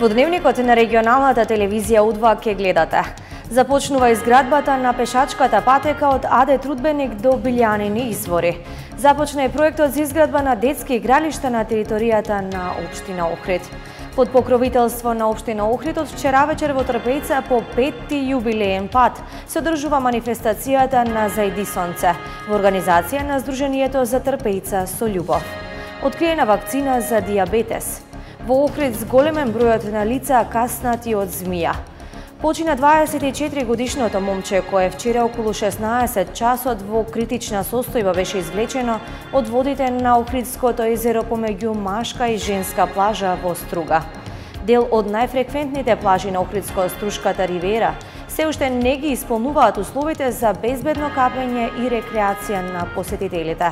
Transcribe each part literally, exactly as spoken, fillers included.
Во дневникот на регионалната телевизија У два ќе гледате. Започнува изградбата на пешачката патека од Аде Трудбеник до Билјанини извори. Започна и проектот за изградба на детски игралишта на територијата на општина Охрид. Под покровителство на општина Охрид од вчера вечер во Трпејца по петти јубилеен пат се одржува манифестацијата на Зајди сонце во организација на Сдруженијето за Трпејца со љубов. Откриена вакцина за дијабетес. Во Охрид зголемен бројот на лица каснати од змија. Почина дваесет и четири годишното момче кое вчера околу шеснаесет часот во критична состојба беше извлечено од водите на Охридското езеро помеѓу машка и женска плажа во Струга. Дел од најфреквентните плажи на Охридско-Струшката ривера се уште не ги исполнуваат условите за безбедно капење и рекреација на посетителите.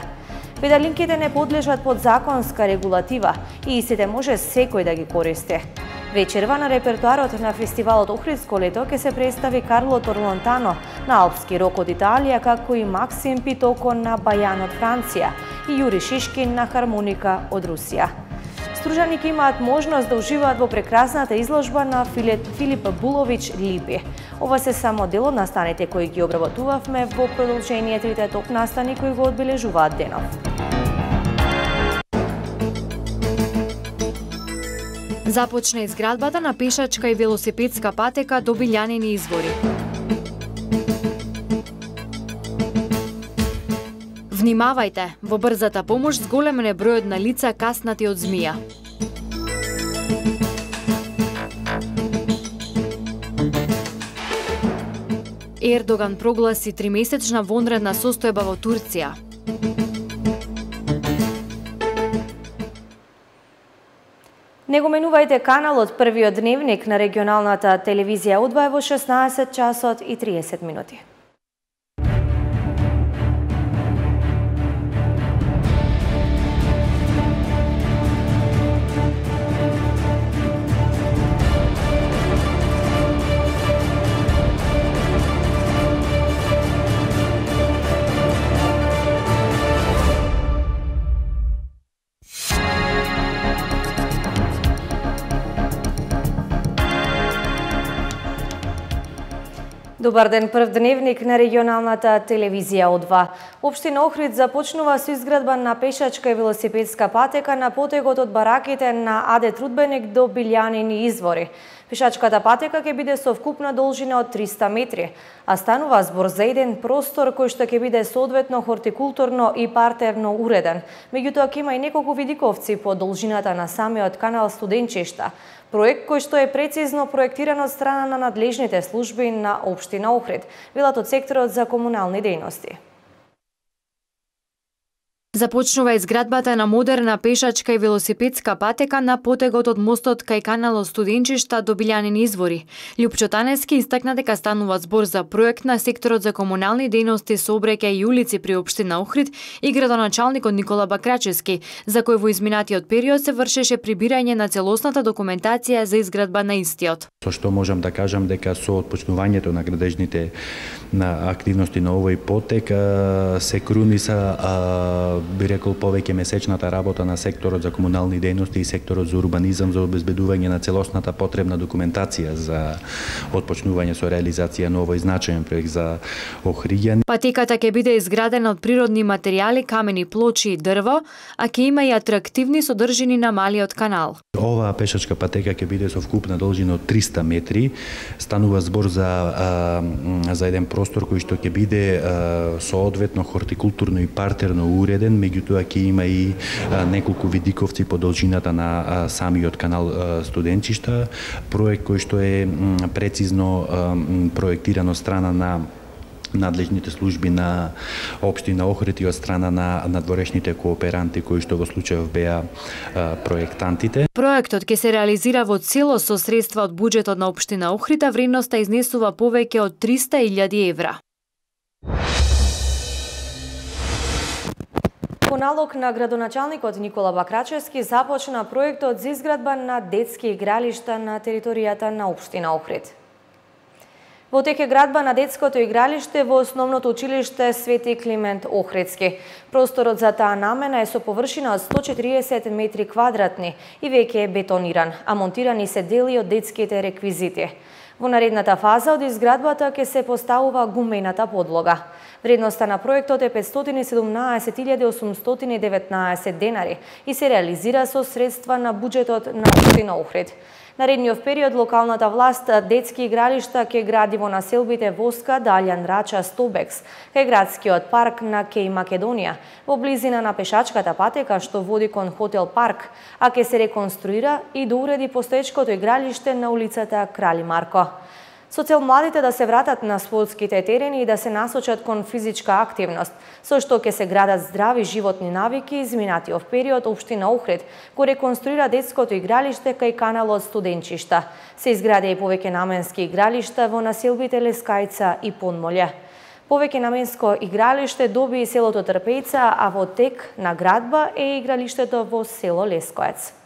Педалинките не подлежат под законска регулатива и истите може секој да ги користи. Вечерва на репертуарот на фестивалот Охридско лето ќе се представи Карло Торлонтано на алпски рок од Италија, како и Максим Питоко на бајан од Франција и Јури Шишкин на хармоника од Русија. Стружаните имаат можност да уживаат во прекрасната изложба на Филип Булович Липи. Ова се само дел од настаните кои ги обработувавме во продолжение трите топ настани кои го одбележуваат денов. Започна изградбата на пешачка и велосипедска патека до Билјанини извори. Внимавајте, во брзата помош зголемен е бројот на лица каснати од змија. Ердоган прогласи тримесечна вонредна состојба во Турција. Не го менувајте каналот Првиот дневник на регионалната телевизија У два во шеснаесет часот и триесет минути. Добар ден, прв дневник на регионалната телевизија У два. Општина Охрид започнува со изградба на пешачка и велосипедска патека на потегот од бараките на Аде Трудбеник до Билјанини извори. Пешачката патека ќе биде со вкупна должина од триста метри, а станува збор за еден простор кој што ќе биде соодветно хортикултурно и партерно уреден. Меѓутоа ќе има и неколку видиковци по должината на самиот канал Студенчишта. Проект кој што е прецизно проектиран од страна на надлежните служби на општина Охрид, велат од секторот за комунални дејности. Започнува изградбата на модерна пешачка и велосипедска патека на потегот од мостот кај каналот Студенчишта до Билјанини извори. Лјупчо Танески истакна дека станува збор за проект на секторот за комунални дејности, сообраќај и улици при општина Охрид и градоначалникот Никола Бакрачевски, за кој во изминатиот период се вршеше прибирање на целосната документација за изградба на истиот. Со што можам да кажам дека со отпочнувањето на градежните на активности на овој потек се круниса, би рекол, повеќе месечната работа на секторот за комунални дејности и секторот за урбанизам за обезбедување на целосната потребна документација за отпочнување со реализација на овој значаен проект за Охриѓани. Патеката ќе биде изградена од природни материјали, камени плочи и дрво, а ќе има и атрактивни содржини на малиот канал. Оваа пешачка патека ќе биде со вкупна должина од триста метри. Станува збор за а, за еден простор кој што ќе биде а, соодветно хортикултурно и партерно уреден, меѓутоа ќе има и а, неколку видиковци по должината на а, самиот канал а, Студенчишта, проект кој што е м, прецизно а, проектиран од страна на надлежните служби на општина Охрид и од страна на надворешните кооперанти кои што во случајов беа а, проектантите. Проектот ќе се реализира во целост со средства од буџетот на општина Охрид, а вредноста изнесува повеќе од триста илјади евра. По налог на градоначалникот Никола Бакрачевски започна проектот за изградба на детски игралишта на територијата на општина Охрид. Во тек е градба на детското игралиште во основното училиште Свети Климент Охридски. Просторот за таа намена е со површина од сто четириесет метри квадратни и веќе е бетониран, а монтирани се дели од детските реквизити. Во наредната фаза од изградбата ќе се поставува гумената подлога. Вредноста на проектот е петстотини и седумнаесет илјади осумстотини и деветнаесет денари и се реализира со средства на буџетот на општина Охрид. Наредниот период локалната власт детски игралишта ќе гради во населбите Воска, Далјан, Рача, Стобекс, кај градскиот парк на Кеј Македонија, во близина на пешачката патека што води кон хотел Парк, а ќе се реконструира и доуреди постоечкото игралиште на улицата Крали Марко. Со цел младите да се вратат на спортските терени и да се насочат кон физичка активност, со што ќе се градат здрави животни навики, изминатиот период општина Охрид го реконструира детското игралиште кај каналот Студенчишта. Се изгради и повеќе наменски игралишта во населбите Лескајца и Подмолје. Повеќе наменско игралиште доби и селото Трпејца, а во тек на градба е игралиштето во село Лескоец.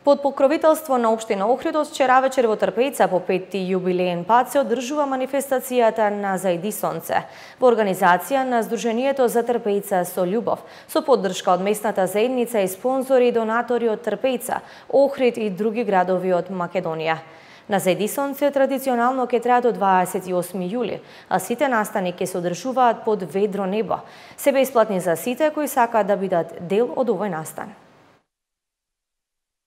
Под покровителство на општина Охрид од вчера вечер во Трпејца по петти јубилеен пат се одржува манифестацијата на Зајди сонце во организација на Сдруженијето за Трпејца со љубов, со поддршка од местната заедница и спонзори и донатори од Трпејца, Охрид и други градови од Македонија. На Зајди сонце традиционално ќе траат до дваесет и осми јули, а сите настани ќе се одржуваат под ведро небо. Се бесплатни за сите кои сакаат да бидат дел од овој настан.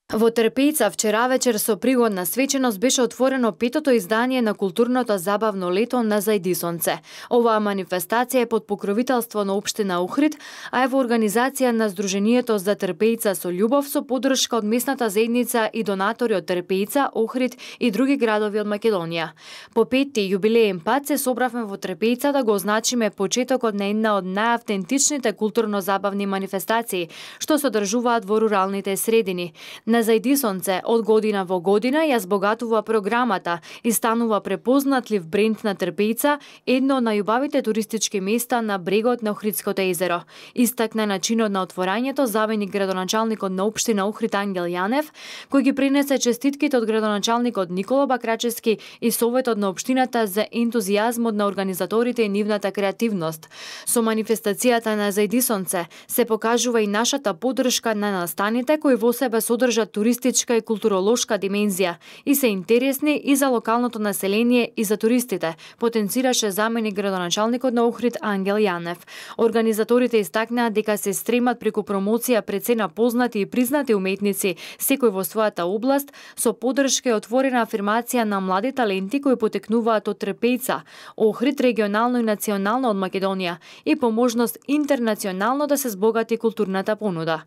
Во Трпејца вчера вечер со пригодна свеченост беше отворено петото издание на културното забавно лето на Зајди сонце. Оваа манифестација е под покровителство на општина Охрид, а е во организација на Сдруженијето за Трпејца со љубов со поддршка од местната заедница и донатори од Трпејца, Охрид и други градови од Македонија. По петти јубилеен пат се собравме во Трпејца да го означиме почетокот на една од најавтентичните културно-забавни манифестации што се одржуваат во руралните средини. На Зајди сонце од година во година ја збогатува програмата и станува препознатлив бренд на Трпејца, едно од најубавите туристички места на брегот на Охридското езеро. Истакна начинот на отворањето заменик градоначалникот на општина Охрид Ангел Јанев, кој ги пренесе честитките од градоначалникот Никола Бакрачевски и советот на општината за ентузијазмот на организаторите и нивната креативност. Со манифестацијата на Зајди сонце се покажува и нашата поддршка на настаните кои во себе содржат туристичка и културолошка димензија и се интересни и за локалното население и за туристите, потенцираше заменик градоначалникот на Охрид Ангел Јанев. Организаторите истакнаа дека се стремат преку промоција пред се на познати и признати уметници, секој во својата област, со поддршка и отворена афирмација на млади таленти кои потекнуваат од Трпејца, Охрид регионално и национално од Македонија и по можност интернационално да се збогати културната понуда.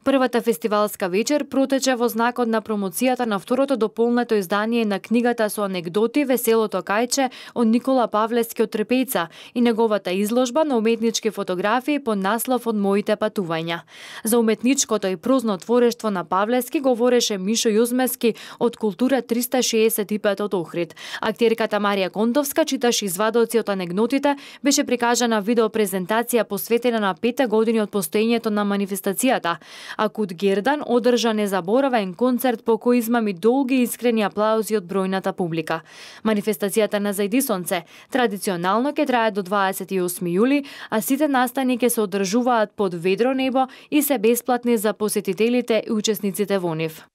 Првата фестивалска вечер протече во знакот на промоцијата на второто дополнето издание на книгата со анегдоти Веселото кајче од Никола Павлевски од Трпејца и неговата изложба на уметнички фотографии под наслов Од моите патувања. За уметничкото и прозно творештво на Павлевски говореше Мишо Јузмески од Култура триста шеесет и пет од Охрид. Актерката Марија Контовска читаше извадоци од анегдотите, беше прикажана видеопрезентација посветена на петте години од постоењето на манифестацијата, а Кут Гердан одржа незаборавен концерт по кој измами долги и искрени аплаузи од бројната публика. Манифестацијата на Зајди сонце традиционално ќе трае до дваесет и осми јули, а сите настани ќе се одржуваат под ведро небо и се бесплатни за посетителите и учесниците во нив.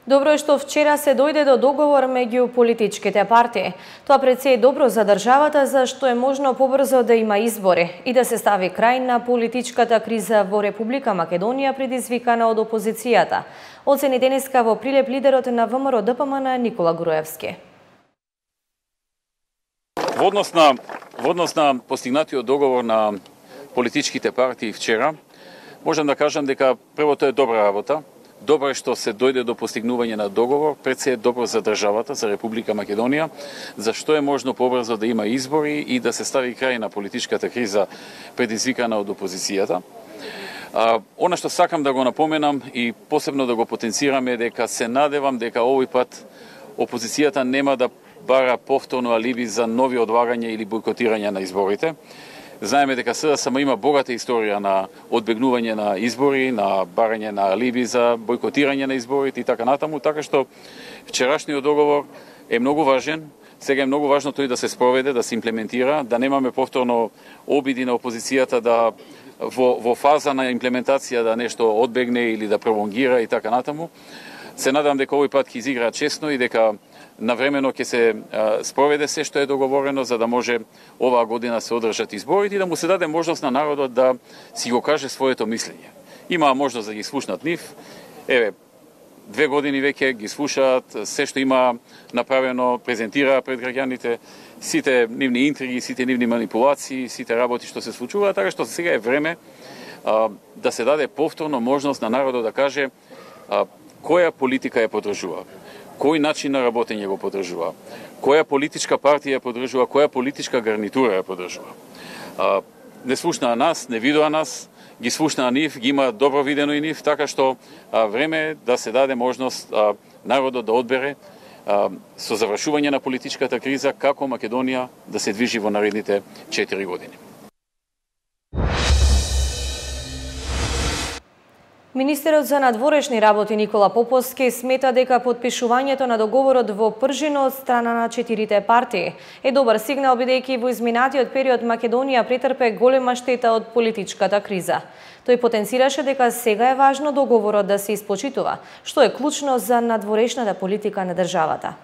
Добро е што вчера се дојде до договор меѓу политичките партии. Тоа пред се е добро за државата, зашто е можно побрзо да има избори и да се стави крај на политичката криза во Република Македонија предизвикана од опозицијата. Оцени денеска во Прилеп лидерот на ВМРО Д П М Н Никола Груевски. Во однос на, во однос на постигнатиот договор на политичките партии вчера, можам да кажам дека првото е добра работа. Добро е што се дојде до постигнување на договор, пред се е добро за државата, за Република Македонија, зашто е можно побрзо да има избори и да се стави крај на политичката криза предизвикана од опозицијата. А, она што сакам да го напоменам и посебно да го потенцирам е дека се надевам дека овој пат опозицијата нема да бара повторно алиби за нови одлагања или бойкотирање на изборите. Знаеме дека С Д С М има богата историја на одбегнување на избори, на барање на алиби за бойкотирање на изборите и така натаму, така што Вчерашниот договор е многу важен. Сега е многу важно тој да се спроведе, да се имплементира, да немаме повторно обиди на опозицијата да во, во фаза на имплементација да нешто одбегне или да пролонгира и така натаму. Се надам дека овој пат ќе изигра честно и дека навремено ќе се а, спроведе се што е договорено, за да може оваа година се одржат изборите и да му се даде можност на народот да си го каже своето мислење. Има можност да ги слушнат нив. Еве, две години веќе ги слушаат, се што има направено, презентира пред граѓаните, сите нивни интриги, сите нивни манипулации, сите работи што се случуваат, така што сега е време а, да се даде повторно можност на народот да каже а, која политика ја поддржува, кој начин на работење го поддржува, која политичка партија ја поддржува, која политичка гарнитура ја поддржува. А, не слушнаа нас, не видоа нас, ги слушнаа нив, ги има добро видено и нив, така што а, време е да се даде можност а, народот да одбере а, со завршување на политичката криза како Македонија да се движи во наредните четири години. Министерот за надворешни работи Никола Поповски смета дека потпишувањето на договорот во Пржино од страна на четирите партии е добар сигнал, бидејќи во изминатиот период Македонија претрпе голема штета од политичката криза. Тој потенцираше дека сега е важно договорот да се испочитува, што е клучно за надворешната политика на државата.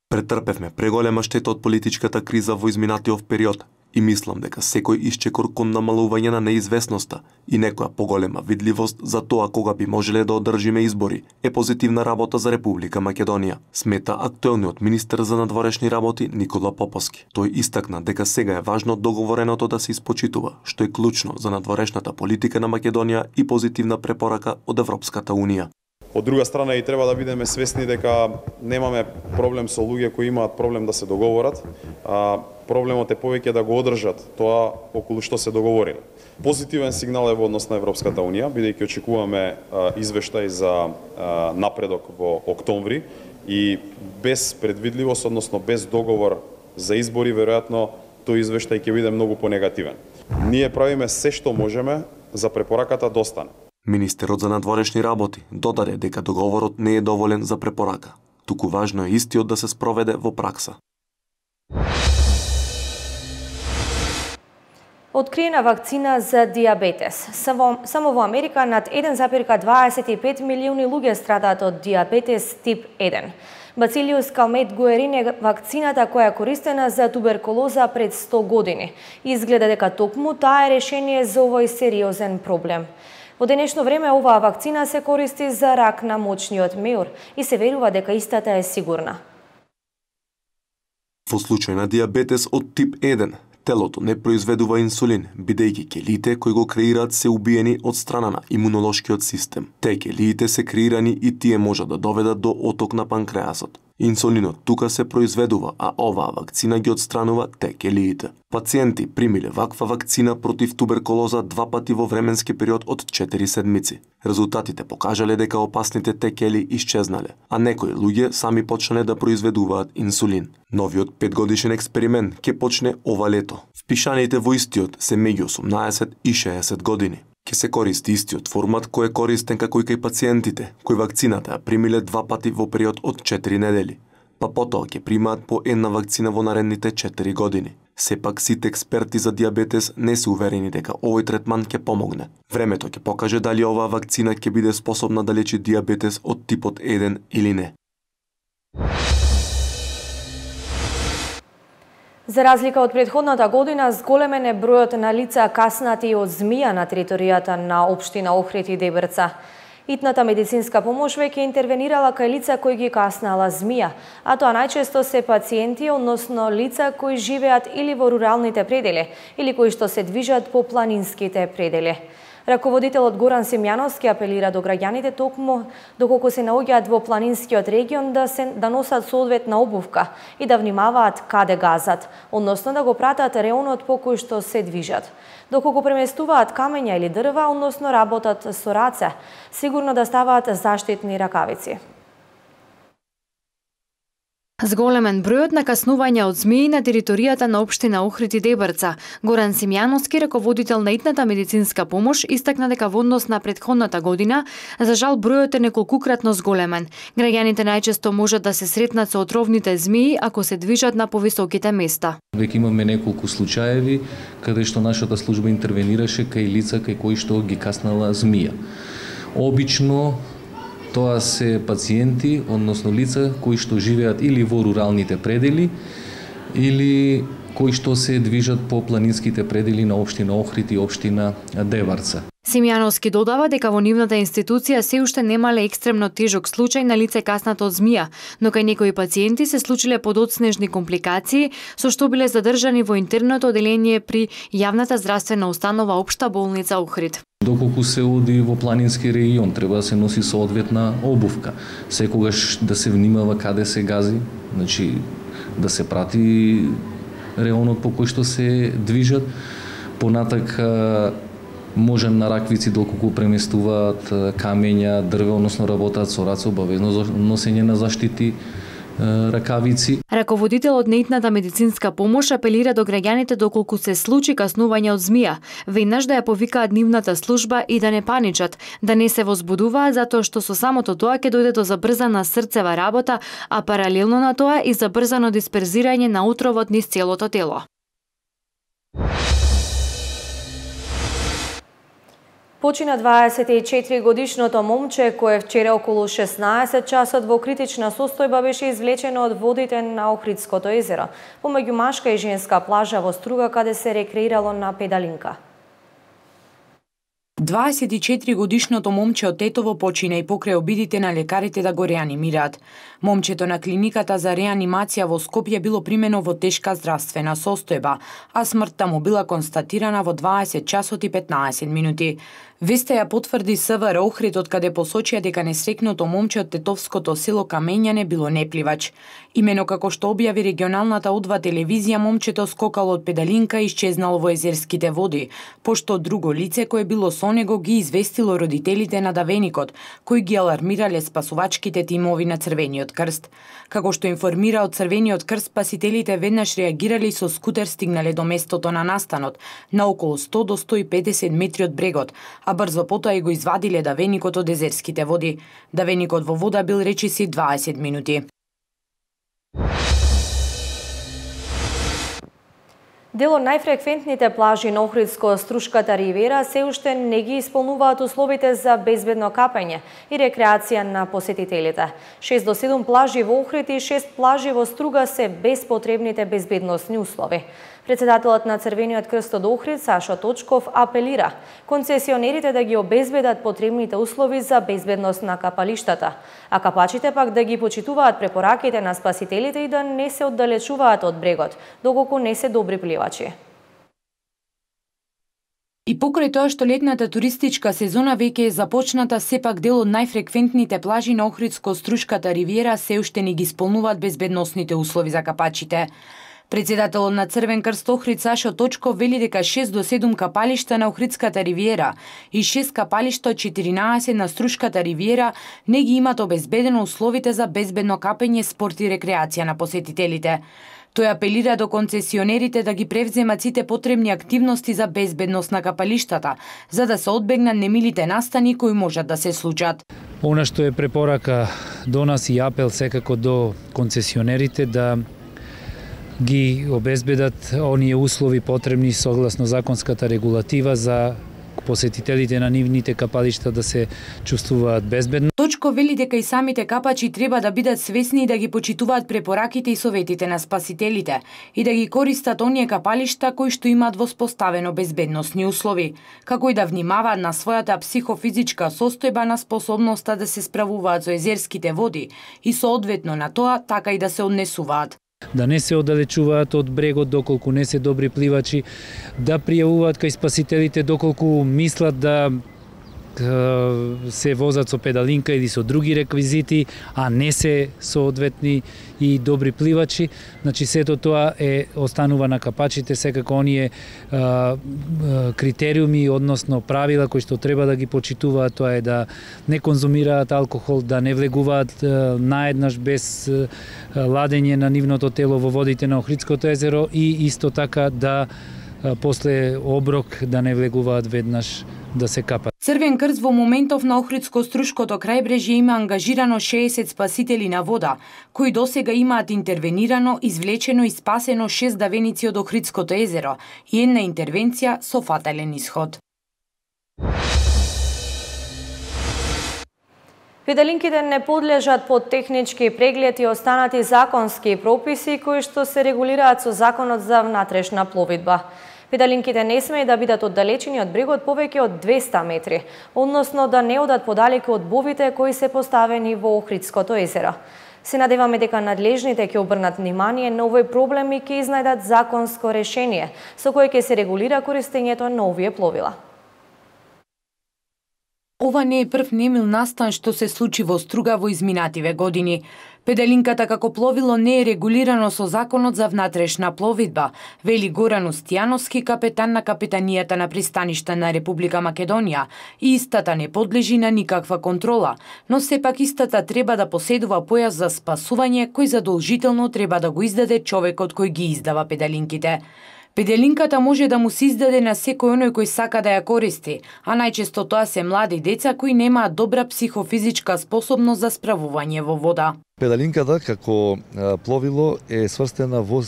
Претрпевме преголема штета од политичката криза во изминатиот период и мислам дека секој исчекор кон намалување на неизвестноста и некоја поголема видливост за тоа кога би можеле да одржиме избори е позитивна работа за Република Македонија, смета актуелниот министер за надворешни работи Никола Поповски. Тој истакна дека сега е важно договореното да се испочитува, што е клучно за надворешната политика на Македонија и позитивна препорака од Европската Унија. Од друга страна и треба да бидеме свесни дека немаме проблем со луѓе кои имаат проблем да се договорат, а проблемот е повеќе да го одржат тоа околу што се договориле. Позитивен сигнал е во однос на Европската Унија, бидејќи очекуваме а, извештај за а, напредок во октомври и без предвидливост, односно без договор за избори, веројатно тој извештај ќе биде многу понегативен. Ние правиме се што можеме за препораката да остане. Министерот за надворешни работи додаде дека договорот не е доволен за препорака, туку важно е истиот да се спроведе во пракса. Откриена вакцина за диабетес. Само, само во Америка над еден зарез дваесет и пет милиони луѓе страдаат од диабетес тип еден. Бацилиус калмет гуерин е вакцината која е користена за туберкулоза пред сто години. Изгледа дека токму таа е решение за овој сериозен проблем. Во денешно време оваа вакцина се користи за рак на мочниот меур и се верува дека истата е сигурна. Во случај на диабетес од тип еден, телото не произведува инсулин, бидејќи келиите кои го креираат се убиени од страна на имунолошкиот систем. Те келиите се креирани и тие можат да доведат до оток на панкреасот. Инсулинот тука се произведува, а оваа вакцина ги отстранува те келиите. Пациенти примиле ваква вакцина против туберкулоза два пати во временски период од четири седмици. Резултатите покажале дека опасните те кели исчезнале, а некои луѓе сами почнале да произведуваат инсулин. Новиот петгодишен експеримент ќе почне ова лето. Впишаните во истиот се меѓу осумнаесет и шеесет години. Ке се користи истиот формат кој е користен како и кај пациентите, кои вакцината ја примиле два пати во период од четири недели, па потоа ќе примаат по една вакцина во наредните четири години. Сепак сите експерти за диабетес не се уверени дека овој третман ќе помогне. Времето ќе покаже дали оваа вакцина ќе биде способна да лечи диабетес од типот еден или не. За разлика од претходната година, зголемен е бројот на лица каснати од змија на територијата на општина Охрид и Дебрца. Итната медицинска помош веќе интервенирала кај лица кои ги каснала змија, а тоа најчесто се пациенти, односно лица кои живеат или во руралните предели, или кои што се движат по планинските предели. Раководителот Горан Симјановски апелира до граѓаните токму доколку се наоѓаат во планинскиот регион да се да носат соодветна обувка и да внимаваат каде газат, односно да го пратат реонот по кој што се движат. Доколку преместуваат камења или дрва, односно работат со раце, сигурно да ставаат заштитни ракавици. Зголемен бројот на каснувања од змии на територијата на општина Охрид и Дебрца. Горан Симјановски, раководител на итната медицинска помош, истакна дека во однос на претходната година, за жал бројот е неколкукратно зголемен. Граѓаните најчесто можат да се сретнат со отровните змии ако се движат на повисоките места. Веќе имаме неколку случаеви каде што нашата служба интервенираше кај лица кај кои што ги каснала змија. Обично тоа се пациенти, односно лица кои што живеат или во руралните предели или кои што се движат по планинските предели на општина Охрид и општина Дебрца. Симјановски додава дека во нивната институција се уште немале екстремно тежок случај на лице каснато од змија, но кај некои пациенти се случиле подоцнежни компликации, со што биле задржани во интерното оделение при јавната здравствена установа Општа болница Охрид. Доколку се оди во планински регион, треба да се носи соодветна обувка. Секогаш да се внимава каде се гази, значи да се прати реонот по кој што се движат. Понатак може на раквици доколку преместуваат камења, дрве, односно работат со раце, обавезно носење на заштити ракавици. Раководителот на итната медицинска помош апелира до граѓаните доколку се случи каснување од змија, веднаш да ја повикаат нивната служба и да не паничат, да не се возбудуваат затоа што со самото тоа ќе дојде до забрзана срцева работа, а паралелно на тоа и забрзано дисперзирање на отровот низ целото тело. Почина дваесет и четири годишното момче кое вчера околу шеснаесет часот во критична состојба беше извлечено од водите на Охридското езеро, помеѓу машка и женска плажа во Струга каде се рекреирало на педалинка. дваесет и четири годишното момче од Тетово почина и покрај обидите на лекарите да го реанимираат. Момчето на клиниката за реанимација во Скопје било примено во тешка здравствена состојба, а смртта му била констатирана во дваесет часот и петнаесет минути. Веста ја потврди СВР Охрид, од каде посочија дека несрекното момче од тетовското село Камењане било непливач. Имено како што објави регионалната О два телевизија, момчето скокало од педалинка и исчезнало во езерските води, пошто друго лице кое било со него ги известило родителите на давеникот, кои ги алармирале спасувачките тимови на Црвениот крст. Како што информира од Црвениот крст, спасителите веднаш реагирали со скутер стигнале до местото на настанот, на околу сто до сто и педесет метри од брегот, а брзо потоа и го извадиле давеникот од езерските води. Давеникот во вода бил речиси дваесет минути. Дел од најфреквентните плажи на Охридско-Струшката ривера се уште не ги исполнуваат условите за безбедно капање и рекреација на посетителите. шест до седум плажи во Охрид и шест плажи во Струга се без потребните безбедносни услови. Председателот на Црвениот крст од Охрид, Сашо Точков, апелира концесионерите да ги обезбедат потребните услови за безбедност на капалиштата, а капачите пак да ги почитуваат препораките на спасителите и да не се оддалечуваат од брегот, доколку не се добри пливачи. И покрај тоа што летната туристичка сезона веќе е започната, сепак дел од најфреквентните плажи на Охридско-Струшката ривиера се уште не ги исполнуваат безбедносните услови за капачите. Председателот на Црвен крст Охрид Сашо Точков вели дека шест до седум капалишта на Охридската ривиера и шест капалишта од четиринаесет на Струшката ривиера не ги имат обезбедено условите за безбедно капење, спорт и рекреација на посетителите. Тој апелира до концесионерите да ги превземат сите потребни активности за безбедност на капалиштата, за да се одбегнат немилите настани кои можат да се случат. Она што е препорака до нас и апел секако до концесионерите да ги обезбедат оние услови потребни согласно законската регулатива за посетителите на нивните капалишта да се чувствуваат безбедно. Точко вели дека и самите капачи треба да бидат свесни и да ги почитуваат препораките и советите на спасителите и да ги користат оние капалишта кои што имаат воспоставено безбедносни услови, како и да внимаваат на својата психофизичка состојба, на способноста да се справуваат со езерските води и соодветно на тоа така и да се однесуваат. Да не се оддалечуваат од брегот доколку не се добри пливачи, да пријавуваат кај спасителите доколку мислат да се возат со педалинка или со други реквизити, а не се соодветни и добри пливачи. Значи сето тоа е останува на капачите, секако оние а, критериуми, односно правила кои што треба да ги почитуваат, тоа е да не конзумираат алкохол, да не влегуваат а, наеднаш без а, ладење на нивното тело во водите на Охридското езеро и исто така да а, после оброк да не влегуваат веднаш да се капат. Црвен крст во моментов на Охридско-Струшкото крајбрежје има ангажирано шеесет спасители на вода, кои досега имаат интервенирано, извлечено и спасено шест давеници од Охридското езеро и една интервенција со фатален исход. Педалинките не подлежат под технички преглед и останати законски прописи кои што се регулираат со Законот за внатрешна пловидба. Педалинките не смее да бидат оддалечени од брегот повеќе од двеста метри, односно да не одат подалеку од бовите кои се поставени во Охридското езеро. Се надеваме дека надлежните ќе обрнат внимание на овој проблем и ќе изнајдат законско решение со кое ќе се регулира користењето на овие пловила. Ова не е прв немил настан што се случи во Струга во изминативе години. Педалинката како пловило не е регулирано со Законот за внатрешна пловидба, вели Горан Устијановски, капетан на капетанијата на пристаништа на Република Македонија, и истата не подлежи на никаква контрола, но сепак истата треба да поседува појас за спасување кој задолжително треба да го издаде човекот кој ги издава педалинките. Педалинката може да му се издаде на секој оној кој сака да ја користи, а најчесто тоа се млади деца кои немаат добра психофизичка способност за справување во вода. Педалинката како пловило е сврстена во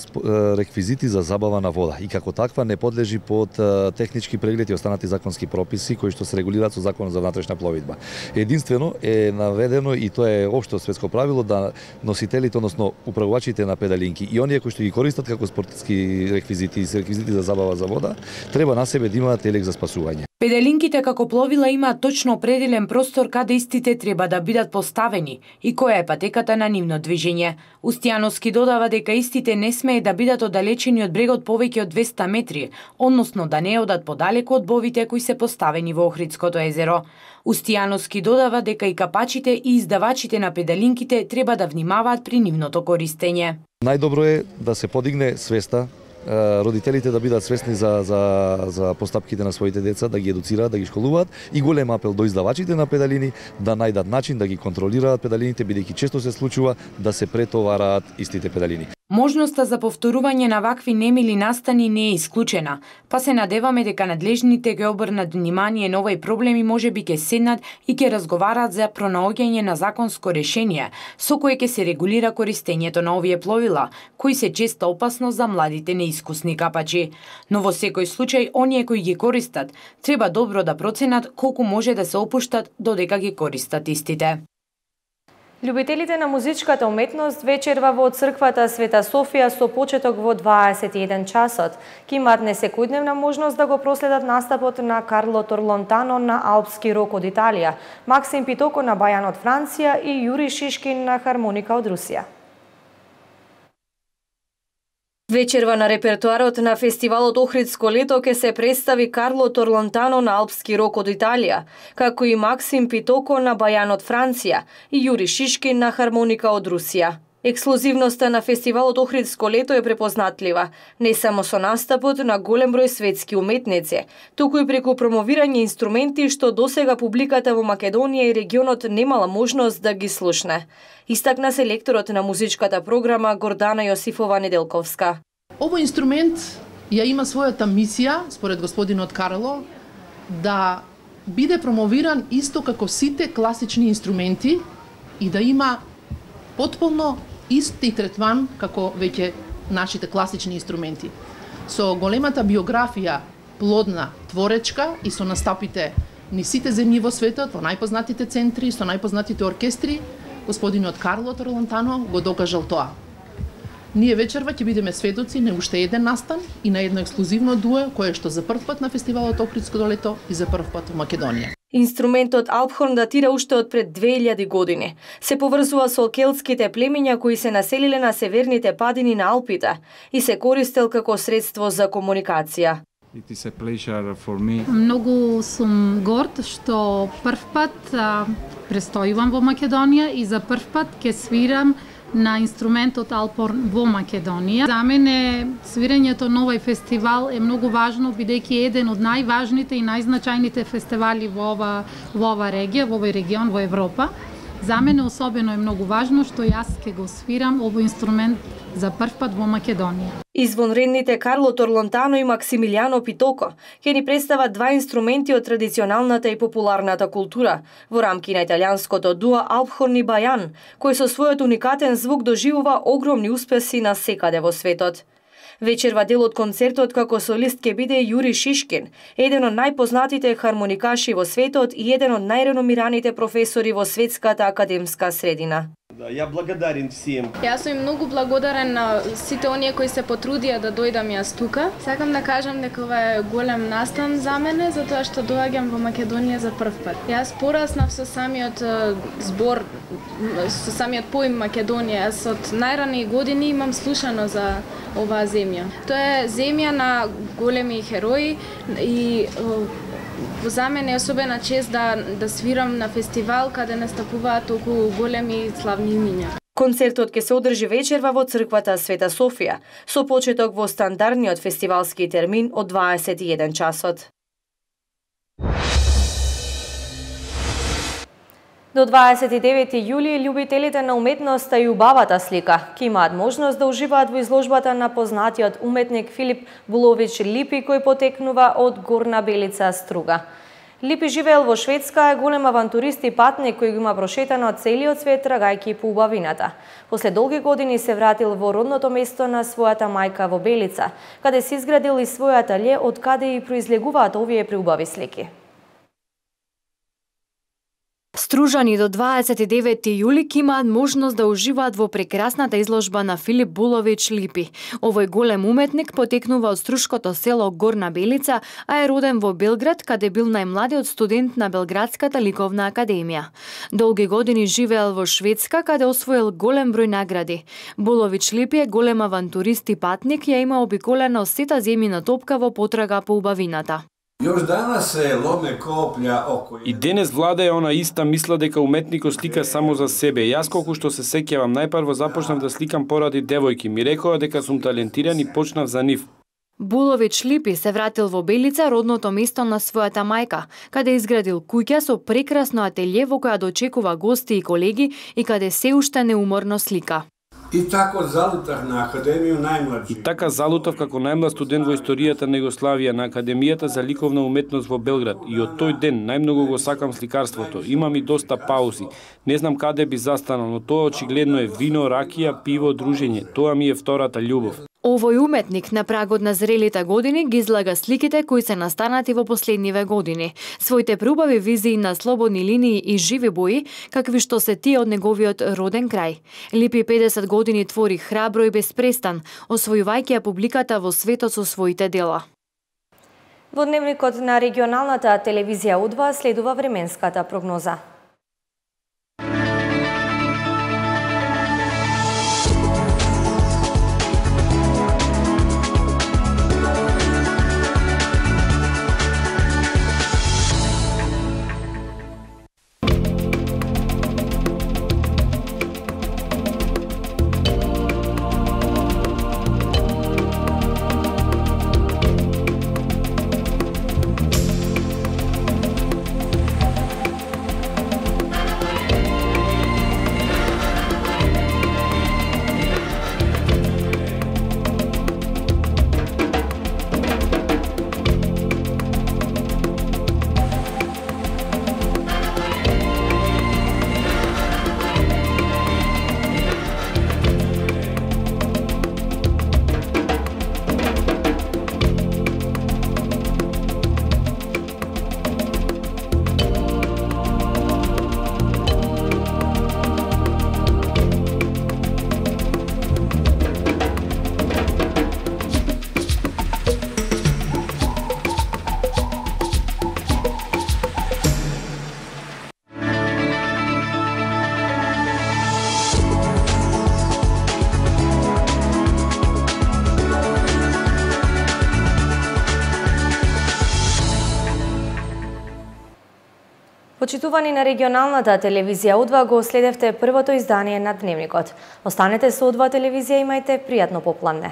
реквизити за забава на вода и како таква не подлежи под технички преглед и останати законски прописи кои што се регулираат со Законот за внатрешна пловидба. Единствено е наведено и тоа е општо светско правило да носителите, односно управувачите на педалинки и оние кои што ги користат како спортски реквизити и реквизити за забава за вода, треба на себе да имаат елек за спасување. Педалинките како пловила имаат точно определен простор каде истите треба да бидат поставени и која е патеката на нивно движење. Устијановски додава дека истите не смее да бидат оддалечени од брегот повеќе од двеста метри, односно да не одат подалеку од бовите кои се поставени во Охридското езеро. Устијановски додава дека и капачите и издавачите на педалинките треба да внимаваат при нивното користење. Најдобро е да се подигне свеста, родителите да бидат свесни за, за, за постапките на своите деца, да ги едуцираат, да ги школуваат и голем апел до издавачите на педалини да најдат начин да ги контролираат педалините, бидејќи често се случува да се претовараат истите педалини. Можноста за повторување на вакви немили настани не е исклучена, па се надеваме дека надлежните ќе обрнат внимание на овој проблем и можеби ќе седнат и ќе разговараат за пронаоѓање на законско решение со кое ќе се регулира користењето на овие пловила, кои се често опасно за младите неискусни капачи. Но во секој случај, оние кои ги користат, треба добро да проценат колку може да се опуштат додека ги користат истите. Љубителите на музичката уметност вечерва во црквата Света Софија со почеток во дваесет и еден часот. Ки имаат несекојдневна можност да го проследат настапот на Карло Торлонтано на алпски рок од Италија, Максим Питоко на бајан од Франција и Јури Шишкин на хармоника од Русија. Вечерва на репертуарот на фестивалот Охридско лето ке се представи Карло Торлонтано на алпски рок од Италија, како и Максим Питоко на бајан од Франција и Јури Шишкин на хармоника од Русија. Ексклузивноста на фестивалот Охридско лето е препознатлива, не само со настапот на голем број светски уметници, туку и преку промовирање инструменти што досега публиката во Македонија и регионот немала можност да ги слушне. Истакна селекторот на музичката програма Гордана Јосифова Неделковска. Овој инструмент ја има својата мисија, според господинот Карло, да биде промовиран исто како сите класични инструменти и да има потполно исти третман како веќе нашите класични инструменти. Со големата биографија, плодна, творечка и со настапите ни сите земји во светот, во најпознатите центри, со најпознатите оркестри, господинот Карло Торлонтано го докажал тоа. Ние вечерва ќе бидеме сведоци на уште еден настан и на едно ексклузивно дуо кое што за прв пат на фестивалот Охридско лето и за прв пат во Македонија. Инструментот алпхорн датира уште од пред две илјади години. Се поврзува со келтските племиња кои се населиле на северните падини на Алпите и се користел како средство за комуникација. It is a pleasure for me. Многу сум горд што прв пат а, престојувам во Македонија и за прв пат ќе свирам на инструментот алпорн во Македонија. За мене свирењето на овој фестивал е многу важно, бидејќи е еден од најважните и најзначајните фестивали во ова, во ова регија, во овој регион, во Европа. За мене особено е многу важно што јас ќе го свирам овој инструмент за прв пат во Македонија. Извонредните Карло Торлонтано и Максимилијано Питоко ќе ни представат два инструменти од традиционалната и популарната култура во рамки на италијанското дуо Алпхорн и Бајан, кој со својот уникатен звук доживува огромни успеси на секаде во светот. Вечерва дел од концертот како солист ќе биде Јури Шишкин, еден од најпознатите хармоникаши во светот и еден од најреномираните професори во светската академска средина. Да, ја благодарен сим. Јас сум многу благодарен на сите оние кои се потрудија да дојдам јас тука. Сакам да кажам дека ова е голем настан за мене, затоа што доаѓам во Македонија за прв пат. Јас пораснав со самиот збор, со самиот поим Македонија. Јас од најрани години имам слушано за оваа земја. Тоа е земја на големи херои и за мене е особена чест да, да свирам на фестивал каде настапуваат толку големи и славни имиња. Концертот ќе се одржи вечерва во црквата Света Софија, со почеток во стандардниот фестивалски термин од дваесет и еден часот. До дваесет и девети јули љубителите на уметноста и убавата слика ќе имаат можност да уживаат во изложбата на познатиот уметник Филип Булович Липи, кој потекнува од Горна Белица, Струга. Липи живеел во Шведска, е голем авантурист и патник кој го има прошетано целиот свет трагајќи по убавината. После долги години се вратил во родното место на својата мајка во Белица, каде се изградил и свој ателје од каде и произлегуваат овие преубави слики. Стружани до дваесет и девети јули ќе имаат можност да уживаат во прекрасната изложба на Филип Булович Липи. Овој голем уметник потекнува од струшкото село Горна Белица, а е роден во Белград, каде бил најмладиот студент на Белградската ликовна академија. Долги години живеел во Шведска, каде освоил голем број награди. Булович Липи е голем авантурист и патник, ја има обиколена сета земјина топка во потрага по убавината. Још данас се ломе коплја око. И денес влада е она иста мисла дека уметникот слика само за себе. Јас колку што се сеќавам, најпрво започнав да сликам поради девојки. Ми рекоа дека сум талентиран и почнав за нив. Булович Липи се вратил во Белица, родното место на својата мајка, каде изградил куќа со прекрасно ателје во која дочекува гости и колеги и каде се уште неуморно слика. И тако залутав на Академију најмладши. И така залутав како најмлад студент во историјата на Југославија на Академијата за ликовна уметност во Белград. И од тој ден најмногу го сакам сликарството. Имам и доста паузи. Не знам каде би застанал, но тоа очигледно е вино, ракија, пиво, дружење. Тоа ми е втората љубов. Овој уметник на прагот на зрелите години ги излага сликите кои се настанати во последниве години. Своите преубави визии на слободни линии и живи бои, какви што се тие од неговиот роден крај. Липи педесет години твори храбро и безпрестан, освојувајќи ја публиката во светот со своите дела. Во дневникот на регионалната телевизија Удва следува временската прогноза. Почитувани на регионалната телевизија У два го следевте првото издание на Дневникот. Останете со У два телевизија, имајте пријатно попладне.